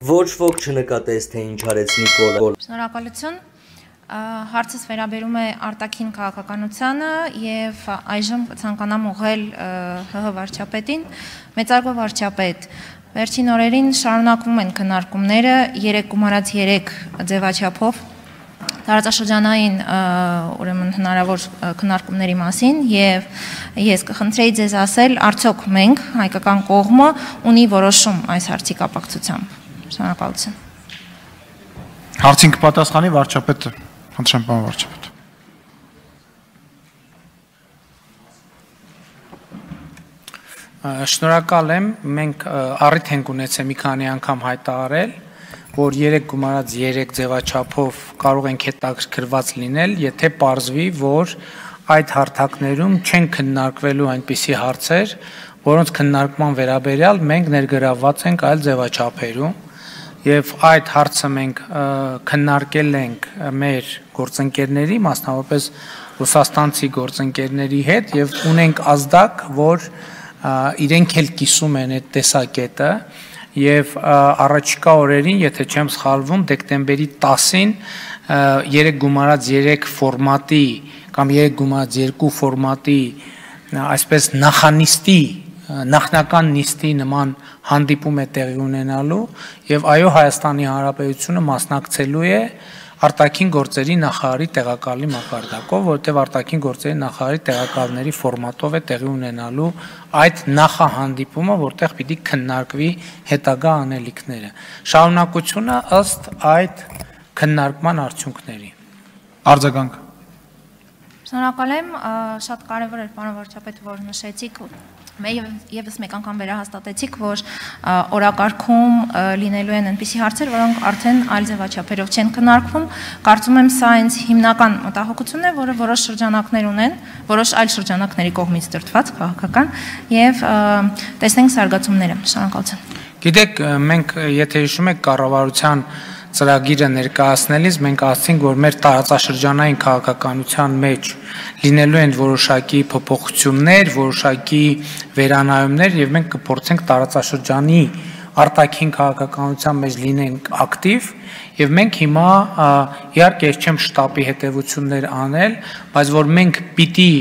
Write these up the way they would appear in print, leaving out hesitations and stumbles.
Ոչ ոք չնկատեց, թե ինչ արեց Նիկոլը։ Շնորհակալություն։ Հարցս վերաբերում է արտաքին քաղաքականությանը եւ այժմ կցանկանամ ուղղել ՀՀ վարչապետին։ Մեծարգո վարչապետ, վերջին օրերին շարունակվում են քննարկումները 3+3 ձևաչափով տարածաշրջանային ուրեմն հնարավոր քննարկումների մասին եւ ես կխնդրեի ձեզ ասել, արդյոք մենք հայկական կողմը ունի որոշում այս հարցի կապակցությամբ։ Շնորհակալություն։ Հարցին կպատասխանի վարչապետը, խնդրեմ պարոն վարչապետ։ Շնորհակալ եմ, մենք առիթ ենք ունեցել մի քանի անգամ հայտարարել, որ 3+3 ձևաչափով կարող ենք հետաքրքրված լինել, եթե պարզվի, որ այդ հարթակներում չեն քննարկվելու այնպիսի հարցեր, որոնց քննարկման վերաբերյալ մենք ներգրավված ենք այլ ձևաչափերում, եւ այդ հարցը մենք քննարկել ենք մեր գործընկերների, մասնավորապես ռուսաստանցի գործընկերների հետ եւ ունենք ազդակ, որ իրենք էլ կիսում են այդ տեսակետը եւ առաջիկա օրերին, եթե չեմ սխալվում, դեկտեմբերի 10-ին 3+3 ֆորմատի կամ 3+2 ֆորմատի այսպես նախանիստի նախնական նիստի նման հանդիպում է տեղի ունենալու եւ այո Հայաստանի Հանրապետությունը մասնակցելու է արտաքին գործերի նախարարի տեղակալի մակարդակով, որտեղ արտաքին գործերի նախարարի տեղակալների ֆորմատով է տեղի ունենալու այդ նախահանդիպումը, որտեղ պիտի քննարկվի հետագա անելիքները։ Շարունակությունը ըստ այդ քննարկման արդյունքների։ Արձագանք։ Շնորհակալ եմ, շատ կարևոր էր պարոն վարչապետ, որ նշեցիք եւս մեկ անգամ վերահաստատեցիք, որ օրակարգում լինելու են այնպիսի հարցեր, որոնք արդեն այլ ձևաչափերով չեն քննարկվում։ Կարծում եմ սա այնց հիմնական մտահոգությունն է, որը որոշ շրջանակներ ունեն, որոշ այլ շրջանակների կողմից դրդված քաղաքական եւ տեսնենք զարգացումները։ Շնորհակալություն։ Գիտեք, մենք եթե հիշում եք կառավարության ծրագիրը ներկայացնելիս մենք ասացինք, որ մեր տարածաշրջանային քաղաքականության մեջ լինելու են որոշակի փոփոխություններ, որոշակի վերանայումներ եւ մենք կփորձենք տարածաշրջանի արտաքին քաղաքականության մեջ լինենք ակտիվ եւ մենք հիմա իհարկե ես չեմ շտաբի հետեւություններ անել, բայց որ մենք պիտի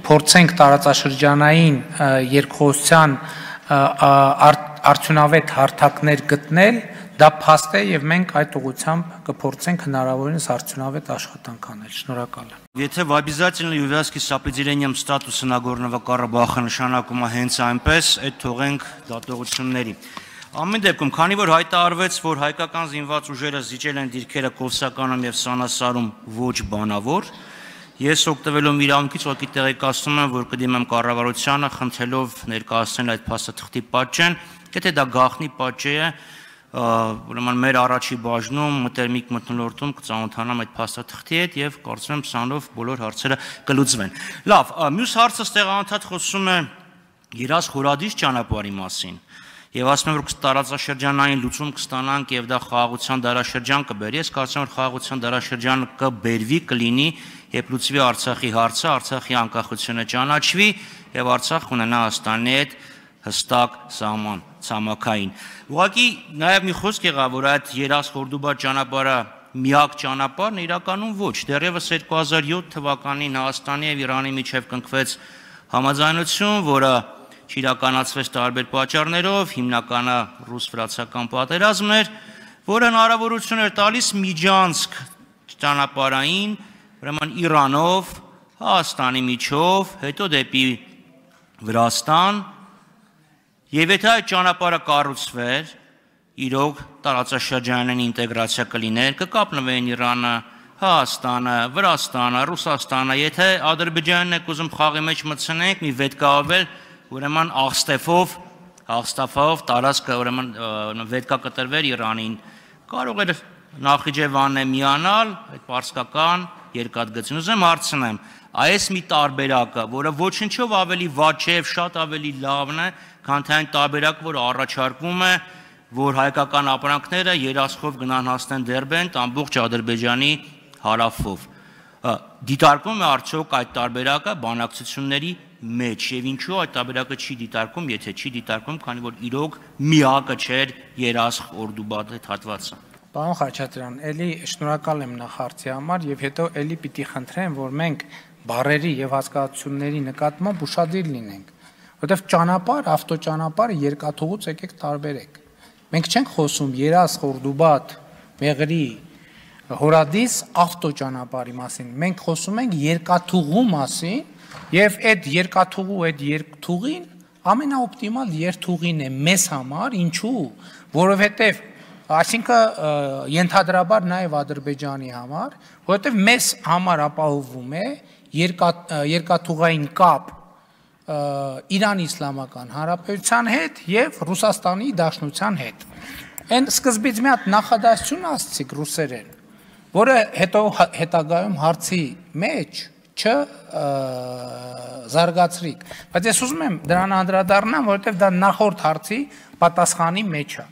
փորձենք տարածաշրջանային երկխոսության արդյունավետ հարթակներ գտնել, դա փաստ է եւ մենք այդ ուղղությամբ կփորձենք հնարավորինս արդյունավետ աշխատանք անել։ Շնորհակալ եմ։ Եթե в обязательной увязке с определением статуса Нагорного Карабаха նշանակում է հենց այնպես, այդ թողենք դատողությունների։ Ամեն դեպքում, քանի որ հայտարարվեց, որ հայկական զինված ուժերը զիջել են դիրքերը Կովսականում եւ Սանասարում ոչ բանավոր, ես օգտվելով իրավունքից ուղղակի տեղեկացնում եմ, որ կդիմեմ կառավարությանը խնդրելով ներկայացնել այդ փաստաթղթի պատճեն, եթե դա գաղտնի պատճե է, ուրեմն մեր առաջի բաժնում մտերմիկ մթնոլորտում կծանոթանամ այդ փաստաթղթի հետ եւ կարծում եմ սրանով բոլոր հարցերը կլուծվեն։ Լավ, մյուս հարցը ստեղանոթად խոսում է Երազ Խորադիս ճանապարհի մասին։ Եվ ասում եմ, որ տարածաշրջանային լուծում կստանանք եւ դա խաղաղության դարաշրջան կբերի։ Ես կարծում եմ, որ խաղաղության դարաշրջանը կբերվի, կլինի, երբ լուծվի Արցախի հարցը, Արցախի անկախությունը ճանաչվի եւ Արցախ ունենա Հայաստանի հետ հստակ սահման ցամաքային։ Ուղղակի նաև մի խոսք եղավ, որ այդ Երազ-Խորդուբա ճանապարհը միակ ճանապարհն իրականում ոչ։ Դեռևս 2007 թվականին Հայաստանի եւ Իրանի միջև կնքվեց համաձայնություն, որը չիրականացվեց տարբեր պատճառներով, հիմնականը ռուս-վրացական պատերազմն էր, որը հնարավորություն էր տալիս Միջանցք ճանապարհային, ուրեմն Իրանով, Հայաստանի միջով, հետո դեպի Վրաստան, եւ եթե այդ ճանապարհը կառուցվեր, իրոք տարածաշրջանային ինտեգրացիա կլիներ, կկապնվեն Իրանը, Հայաստանը, Վրաստանը, Ռուսաստանը, եթե Ադրբեջանն եք ուզում խաղի մեջ մտցնենք, մի վետկավել, ուրեմն Աղստաֆով տարածքը ուրեմն վետկա կտրվեր Իրանին, կարող էր Նախիջևանն է միանալ այդ պարսկական երկաթգծին։ Ուզում եմ հարցնեմ, այս մի տարբերակը, որը ոչնչով ավելի վատ չէ, շատ ավելի լավն է, քան թե այն տարբերակը, որ առաջարկվում է, որ հայկական ապրանքները երասխով գնան հասնեն Դերբենտ ամբողջ Ադրբեջանի հարավով։ Դիտարկվում է արդյոք այդ տարբերակը բանակցությունների մեջ եւ ինչու այդ տարբերակը չի դիտարկում, եթե չի դիտարկում, քանի որ իրոք միակը չէր Երասխ Օրդուբադ այդ հատվածը։ Պարոն Խաչատրյան, ելի շնորհակալ եմ նախարարի համար եւ հետո ելի պիտի խնդրեմ, որ մենք բարերի եւ հասկացությունների նկատմամբ ուշադիր լինենք, որովհետեւ ճանապարհ, ավտոճանապարհը երկաթուղուց եկեք տարբերեք։ Մենք չենք խոսում Երասխ Օրդուբադ, Մեղրի, Հորադիս ավտոճանապարհի մասին, մենք խոսում ենք երկաթուղու մասին եւ այդ երկաթուղու այդ երկթուղին ամենաօպտիմալ երթուղին է մեզ համար, ինչու, որովհետեւ այսինքն ենթադրաբար նաեւ Ադրբեջանի համար, որովհետեւ մեզ համար ապահովում է երկաթուղային կապ Իրանի Իսլամական Հանրապետության հետ եւ Ռուսաստանի Դաշնության հետ։ Այն սկզբից մի հատ նախադասություն ասացիք ռուսերեն, որը հետո հետագայում հարցի մեջ չզարգացրիք, բայց ես ուզում եմ դրան անդրադառնամ, որովհետև դա նախորդ հարցի պատասխանի մեջ է։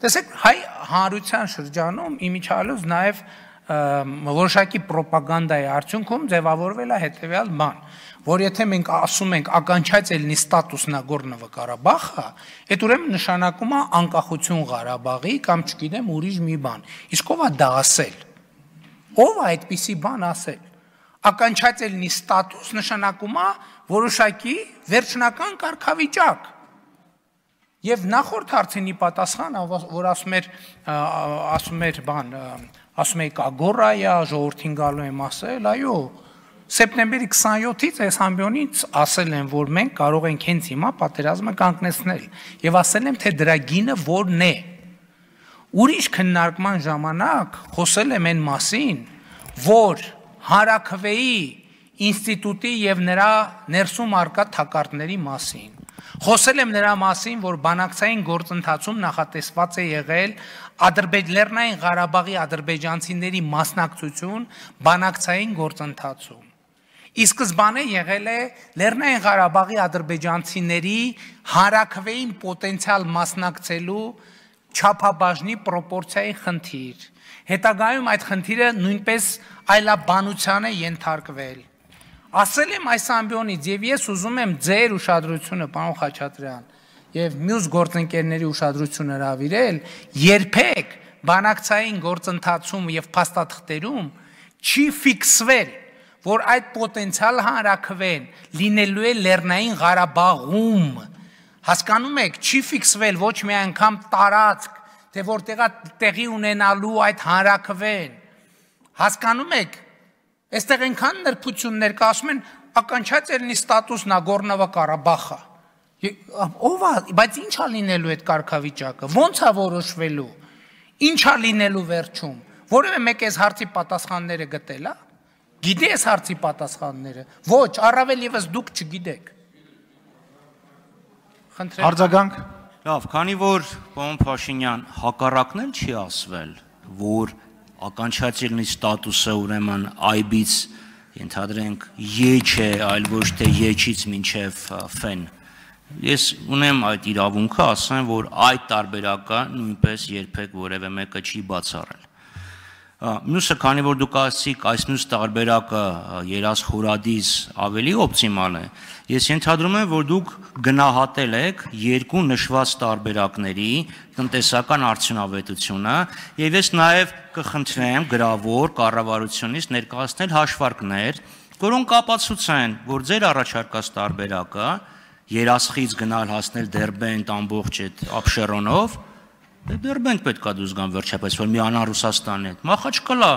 Տեսեք, հայ հանրության շրջանում իմիջիալոց նաև որոշակի պրոպագանդայի արդյունքում ձևավորվել է հետևյալ բան, որ եթե մենք ասում ենք ականչայցելնի ստատուս Նագորնո Ղարաբաղը, այդ ուրեմն նշանակում է անկախություն Ղարաբաղի կամ չգիտեմ ուրիշ մի բան։ Իսկ ով է դա ասել։ Ով է այդպիսի բան ասել։ Ականչայցելնի ստատուս նշանակում է որոշակի վերջնական կարգավիճակ։ Եվ նախորդ հարցինի պատասխանը, որ ասում եք ագորայա, ժողովրդին գալու եմ ասել, այո, սեպտեմբերի 27-ից այս ամբիոնից ասել եմ, որ մենք կարող ենք հենց հիմա պատերազմը կանգնեցնել եւ ասել եմ, թե դրա գինը որն է։ Ուրիշ քննարկման ժամանակ խոսել եմ այն մասին, որ Հանրաքվեի ինստիտուտի եւ նրա ներսում արկա թակարդների մասին։ Խոսել եմ նրա մասին, որ բանակցային գործընթացում նախատեսված է եղել Լեռնային Ղարաբաղի ադրբեջանցիների մասնակցություն բանակցային գործընթացում։ Ի սկզբանե եղել է Լեռնային Ղարաբաղի ադրբեջանցիների Հանրաքվեին պոտենցիալ մասնակցելու չափաբաժնի պրոպորցիայի խնդիր։ Հետագայում այդ խնդիրը նույնպես այլաբանության է ենթարկվել։ Ասել եմ այս ամբիոնից եւ ես ուզում եմ ձեր ուշադրությունը, պարոն Խաչատրյան, եւ մյուս գործընկերների ուշադրությունը հրավիրել, երբեք բանակցային գործընթացում եւ փաստաթղթերում չի ֆիքսվել, որ այդ պոտենցիալ հանրաքվեն լինելու է Լեռնային Ղարաբաղում։ Հասկանում եք, չի ֆիքսվել ոչ մի անգամ տարածք, թե որտեղա տեղի ունենալու այդ հանրաքվեն։ Հասկանում եք, այստեղ այնքան նրբություններ կա, ասում են ականչայցելնի ստատուս Նագորնո Ղարաբաղը։ Ով է, բայց ի՞նչ է լինելու այդ կարգավիճակը, ո՞նց է որոշվելու, ի՞նչ է լինելու վերջում, որևէ մեկ այս հարցի պատասխանները գտել է, գիտի այս հարցի պատասխանները, ոչ, առավել եւս դուք չգիտեք։ Խնդրեմ։ Արձագանք։ Լավ, քանի որ պարոն Փաշինյան հակառակն էլ չի ասվել, որ ականչայցելնի ստատուսը ուրեմն այբից ենթադրենք եջ է, այլ ոչ թե եջից մինչև ֆեն։ Ես ունեմ այդ իրավունքը ասեմ, որ այդ տարբերակը նույնպես երբեք որևէ մեկը չի բացառել։ Մյուսը, քանի որ դուք ասացիք, այս մյուս տարբերակը Երասխ Հորադիս ավելի օպտիմալ է, ես ենթադրում եմ, որ դուք գնահատել եք երկու նշված տարբերակների տնտեսական արդյունավետությունը եւ ես նաեւ կխնդրեմ գրավոր կառավարությունից ներկայացնել հաշվարկներ, որոնք ապացուցեն, որ ձեր առաջարկած տարբերակը Երասխից գնալ հասնել Դերբենտ ամբողջ այդ Աբշերոնով, Դերբենտ պետքա դուրս գան վերջապես, որ միանան Ռուսաստանի հետ։ Մախաչկալա,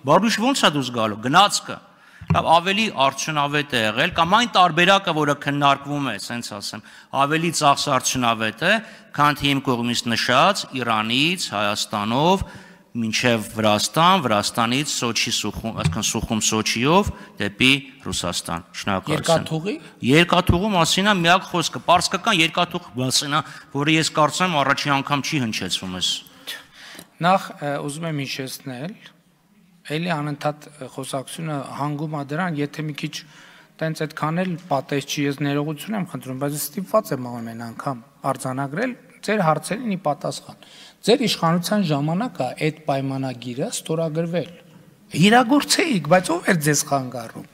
բարբիշ ոնց է դուրս գալու, գնացքը։ Լավ, ավելի արդյունավետ է եղել, կամ այն տարբերակը, որը քննարկվում է, ասենց ասեմ, ավելի ծախս արդյունավետ է, քան թե իմ կողմից նշած Իրանից, Հայաստանով, մինչև Վրաստան, Վրաստանից Սոչի Սուխում, այսինքն Սուխում Սոչիով դեպի Ռուսաստան։ Շնորհակալություն։ Երկաթուղու մասին է միակ խոսքը, պարսկական երկաթուղ մասին է, որը ես կարծում եմ առաջին անգամ չի հնչեցվում ես։ Նախ ուզում եմ հիշեցնել, էլի անընդհատ խոսակցությունը հանգում է դրան, եթե մի քիչ տենց այդքան էլ պատես չի, ես ներողություն եմ խնդրում, բայց ստիպված եմ ամեն անգամ արձանագրել ձեր հարցերին ի պատասխան։ Ձեր իշխանության ժամանակ է այդ պայմանագիրը ստորագրվել։ Իրագործեիք, բայց ով էր ձեզ խանգարում։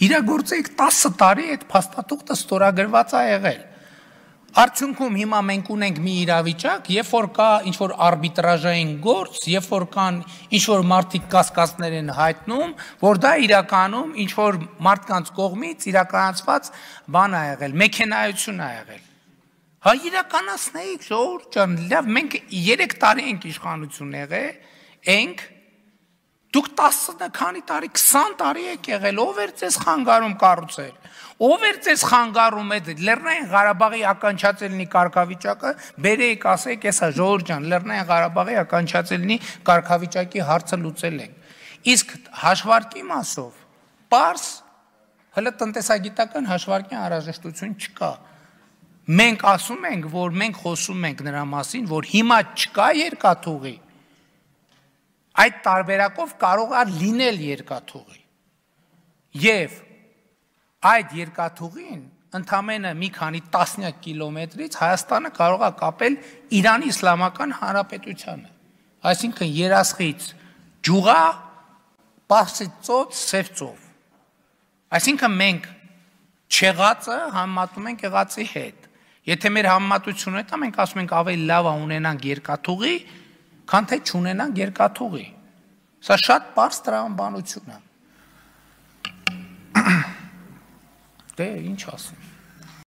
իրագործեք 10 տարի այդ փաստաթուղթը ստորագրված է եղել։ Արդյունքում հիմա մենք ունենք մի իրավիճակ, երբ որ կա ինչ-որ արբիտրաժային գործ, երբ որ կան ինչ-որ մարդիկ կասկածներ են հայտնում, որ դա իրականում ինչ-որ մարդկանց կողմից իրականացված բան է եղել, մեքենայություն է եղել։ Հա իրականացնեիք, ժողովուրդ ջան, լավ, մենք 3 տարի ենք իշխանություն եղել, դուք 10 քանի տարի, 20 տարի եք եղել, ով էր ձեզ խանգարում կառուցել։ Ով էր ձեզ խանգարում այդ Լեռնային Ղարաբաղի ականջածելնի կարգավիճակը, բերեիք ասեք, հեսա ժողովուրդ ջան, Լեռնային Ղարաբաղի ականջածելնի կարգավիճակի հարցը լուծել ենք։ Իսկ հաշվարկի մասով, պարզ, հələ տնտեսագիտական հաշվարկի անհրաժեշտություն չկա։ Մենք ասում ենք, որ մենք խոսում ենք նրա մասին, որ հիմա չկա երկաթուղի։ Այդ տարբերակով կարող է լինել երկաթուղի։ Եվ այդ երկաթուղին ընդամենը մի քանի տասնյակ կիլոմետրից Հայաստանը կարող է կապել Իրանի Իսլամական Հանրապետությանը։ Այսինքն Երասխից Ջուղա, Պարսից ծոց, Սև ծով։ Այսինքն մենք չեղածը համեմատում ենք եղածի հետ։ Եթե մեր համեմատությունը հետա մենք ասում ենք ավելի լավ է ունենանք երկաթուղի, քան թե չունենանք երկաթուղի։ Սա շատ պարզ տրամաբանություն է։ Դե ինչ ասեմ։